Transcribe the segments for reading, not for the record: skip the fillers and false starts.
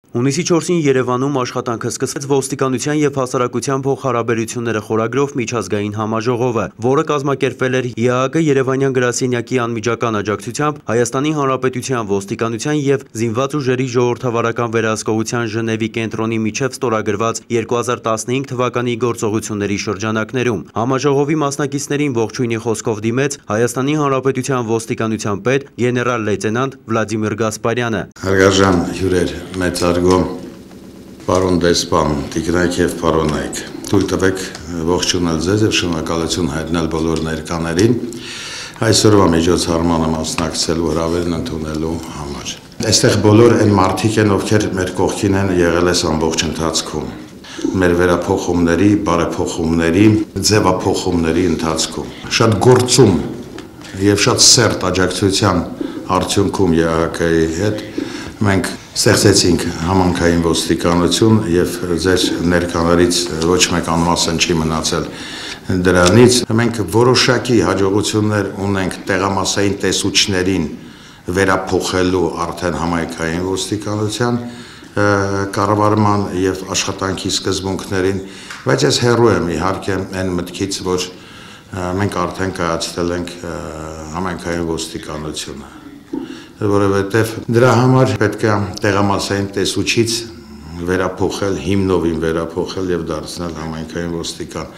Հունիսի 4-ին Երևանում աշխատանքը սկսեց ոստիկանության և հասարակության փոխհարաբերությունները խորագրով միջազգային համաժողովը, որը կազմակերպվել էր ԵԱՀԿ Երևանյան գրասենյակի անմիջական աջակցությամբ Հայաստանի Հանրապետության ոստիկանության և զինված ուժերի ժողովրդավարական վերահսկողության Ժնևի կենտրոնի միջև ստորագրված 2015 թվականի գործողությունների շրջանակներում։ Համաժողովի մասնակիցներին ողջույնի խոսքով դիմեց Հայաստանի Հանրապետության ոստիկանության պետ գեներալ լեյտենանտ Վլադիմիր Գասպարյանը։ Հարգարժան հյուրեր, մեծարգո պարոն դեսպան, տիկնայք և պարոնայք, թույլ տվեք ողջունել ձեզ և շնորհակալություն հայտնել բոլոր ներկաներին այսօրվա միջոցառմանը մասնակցելու հրավերն ընդունելու համար։ Այստեղ բոլոր այն մարդիկ են, ովքեր մեր կողքին են եղել այս ամբողջ ընթացքում, մեր վերափոխումների, բարեփոխումների, ձևափոխումների ընթացքում։ Շատ գործում և շատ սերտ աջակցության արդյունքում ԵԱՀԿ-ի հետ մենք ստեղծեցինք համանքային ոստիկանություն և ձեր ներկաներից ոչ մեկ անմասն չի մնացել դրանից։ Մենք որոշակի հաջողություններ ունենք տեղամասային տեսուչներին վերափոխելու արդեն համայնքային ոստիկանության կառավարման և աշխատանքի սկզբունքներին, բայց ես հեռու եմ իհարկե այն մտքից, որ մենք արդեն կայացրել ենք համայնքային ոստիկանությունը, որովհետև դրա համար պետք է տեղամասային տեսուչից վերափոխել, հիմնովին վերափոխել և դարձնել համայնքային ոստիկան։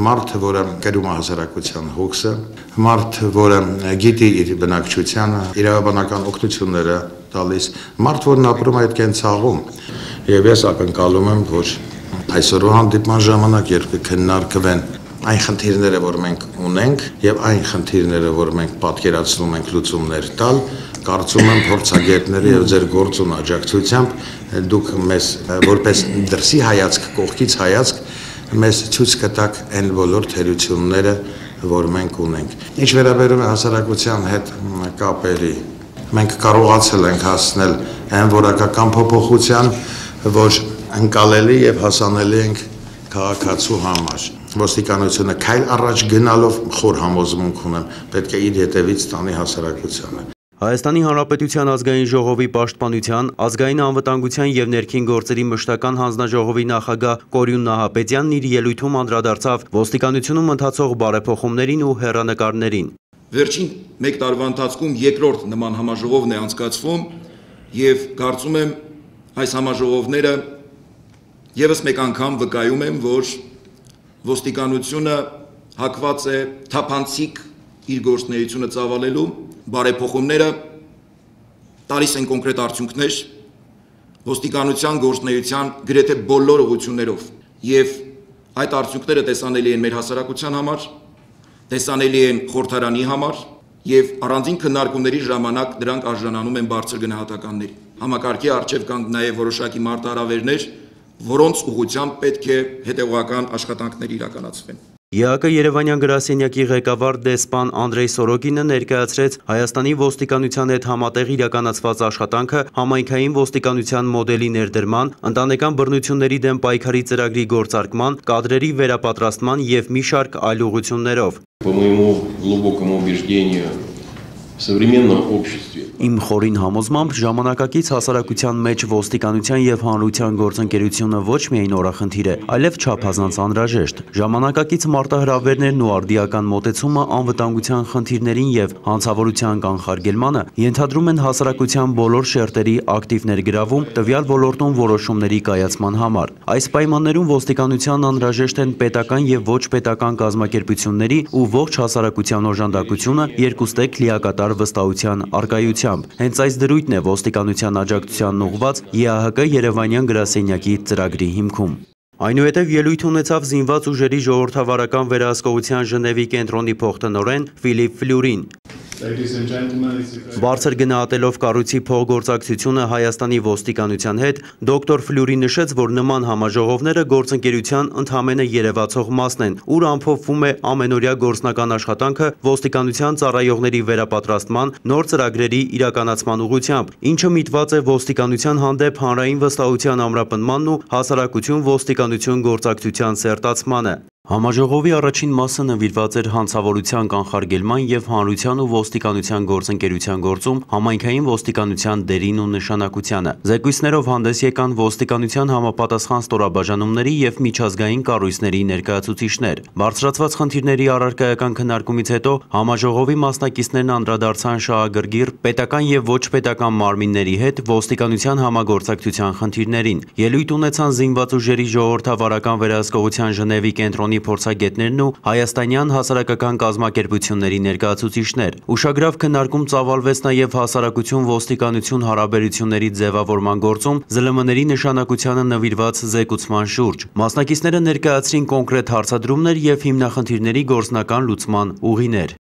Մարդ, որը կերում է հասարակության հոգսը, մարդ, որը գիտի իր բնակչությանը, իրավաբանական օգնությունները տալիս, մարդ, որն ապրում է այդ կենցաղում։ Եվ ես ակնկալում եմ, որ այսօրվա հանդիպման ժամանակ, երբ կքննարկվեն այն խնդիրները, որ մենք ունենք, եւ այն խնդիրները, որ մենք պատկերացնում ենք լուծումներ տալ, կարծում եմ փորձագետների եւ ձեր գործուն աջակցությամբ դուք մեզ որպես դրսի հայացք, կողքից հայացք մեզ ցույց կտաք այն բոլոր թերությունները, որ մենք ունենք։ Ինչ վերաբերում է հասարակության հետ կապերի, մենք կարողացել ենք հասնել այն որակական փոփոխության, որ ընկալելի եւ հասանելի ենք քաղաքացու համար։ Ոստիկանությունը քայլ առաջ գնալով խոր համոզմունք ունեմ, պետք է իր հետևից տանի հասարակությանը։ Հայաստանի Հանրապետության ազգային ժողովի պաշտպանության, ազգային անվտանգության և ներքին գործերի մշտական հանձնաժողովի նախագահ Կորյուն Նահապետյանն իր ելույթում անդրադարձավ ոստիկանությունում ընթացող բարեփոխումներին ու հեռանկարներին։ Վերջին մեկ տարվա ընթացքում երկրորդ նման համաժողովն է անցկացվում եւ կարծում եմ այս համաժողովները եւս մեկ անգամ վկայում են, որ ոստիկանությունը հակված է թափանցիկ իր գործունեությունը ծավալելու, բարեփոխումները տալիս են կոնկրետ արդյունքներ ոստիկանության գործունեության գրեթե բոլոր ուղղություններով եւ այդ արդյունքները տեսանելի են մեր հասարակության համար, տեսանելի են խորհրդարանի համար եւ առանձին քննարկումների ժամանակ դրանք արժանանում են բարձր գնահատականների։ Համակարգի առջեւ կան նաեւ որոշակի մարտահրավերներ, որոնց ուղղությամբ պետք է հետեւողական աշխատանքներ իրականացվեն։ ԵԱՀԿ Երևանյան գրասենյակի ղեկավար դեսպան Անդրեյ Սորոկինը ներկայացրեց Հայաստանի ոստիկանության հետ համատեղ իրականացված աշխատանքը համայնքային ոստիկանության մոդելի ներդրման, ընտանեկան բռնությունների դեմ պայքարի ծրագրի գործարկման, կադրերի վերապատրաստման և մի շարք այլ ուղղություններով։ Իմ խորին համոզմամբ ժամանակակից հասարակության մեջ ոստիկանության և հանրության գործընկերությունը ոչ միայն օրախնդիր է, այլև չափազանց անհրաժեշտ։ Ժամանակակից մարտահրավերներն ու արդիական մոտեցումը անվտանգության խնդիրներին և հանցավորության կանխարգելմանը ենթադրում են հասարակության բոլոր շերտերի ակտիվ ներգրավում տվյալ ոլորտում որոշումների կայացման համար։ Այս պայմաններում ոստիկանության անհրաժեշտ են պետական և ոչ պետական կազմակերպությունների ու ողջ հասարակության օժանդակությունը երկուստեք լիակատար վստահության առկայությամբ։ Հենց այս դրույթն է ոստիկանության աջակցությանն ուղղված ԵԱՀԿ Երևանյան գրասենյակի ծրագրի հիմքում։ Այնուհետև ելույթ ունեցավ զինված ուժերի ժողովրդավարական վերահսկողության Ժնևի կենտրոնի փոխտնօրեն Ֆիլիպ Ֆլյուրին։ Բարձր գնահատելով կառույցի փոխգործակցությունը Հայաստանի ոստիկանության հետ, դոկտոր Ֆլյուրի նշեց, որ նման համաժողովները գործընկերության ընդամենը երևացող մասն են, ուր ամփոփվում է ամենօրյա գործնական աշխատանքը ոստիկանության ծառայողների վերապատրաստման, նոր ծրագրերի իրականացման ուղղությամբ, ինչը միտված է ոստիկանության հանդեպ հանրային վստահության ամրապնդմանն ու հասարակություն-ոստիկանություն գործակցության սերտացմանը։ Համաժողովի առաջին մասը նվիրված էր հանցավորության կանխարգելման և հանրության ու ոստիկանության գործընկերության գործում համայնքային ոստիկանության դերին ու նշանակությանը։ Զեկույցներով հանդես եկան ոստիկանության համապատասխան ստորաբաժանումների և միջազգային կառույցների ներկայացուցիչներ։ Բարձրացված խնդիրների առարկայական քննարկումից հետո համաժողովի մասնակիցներն անդրադարձան շահագրգիռ պետական և ոչ պետական մարմինների հետ ոստիկանության համագործակցության խնդիրներին։ Ելույթ ունեցան զինված ուժերի ժողովրդավարական վերահսկողության Ժնևի կենտրոնի փորձագետներն ու հայաստանյան հասարակական կազմակերպությունների ներկայացուցիչներ։ Ուշագրավ քննարկում ծավալվեց նաև հասարակություն ոստիկանություն հարաբերությունների ձևավորման գործում ԶԼՄ-ների նշանակությանը նվիրված զեկուցման շուրջ։ Մասնակիցները ներկայացրին կոնկրետ հարցադրումներ և հիմնախնդիրների գործնական լուծման ուղիներ։